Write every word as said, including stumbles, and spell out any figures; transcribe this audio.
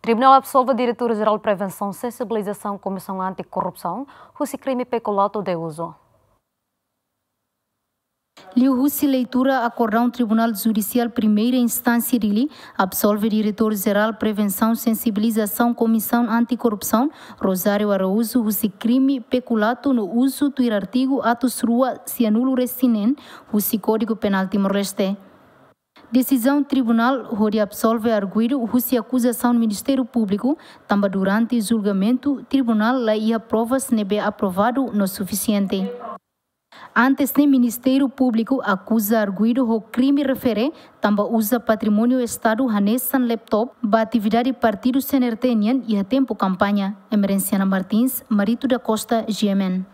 Tribunál absolve Diretór Jerál Prevensaun Sensibilizasaun Komisaun Anti-Korrupsaun husi krime pekulato de uso. Liuhusi leitura akordaun Tribunál Judisiál Primeira Instánsia Dili absolve Diretór Jerál Prevensaun Sensibilizasaun Komisaun Anti-Korrupsaun, Rosário Araújo, husi krime pekulato no uzu tuir artigu atus rua sianulu resin neen husi Kódigu Penál Timor-Leste. Desizaun tribunál hodi absolve arguidu husi akuzasaun Ministériu Públiku, tanba durante julgamentu tribunál la iha provas ne'ebé aprovadu no sufisiente. Antes ne'e Ministériu Públiku akuza arguidu ho krime refere tanba uza patrimóniu Estadu hanesan laptop ba atividade partidu C N R T nian iha tempu kampaña. Emerenciana Martins, Marito da Costa, G M N.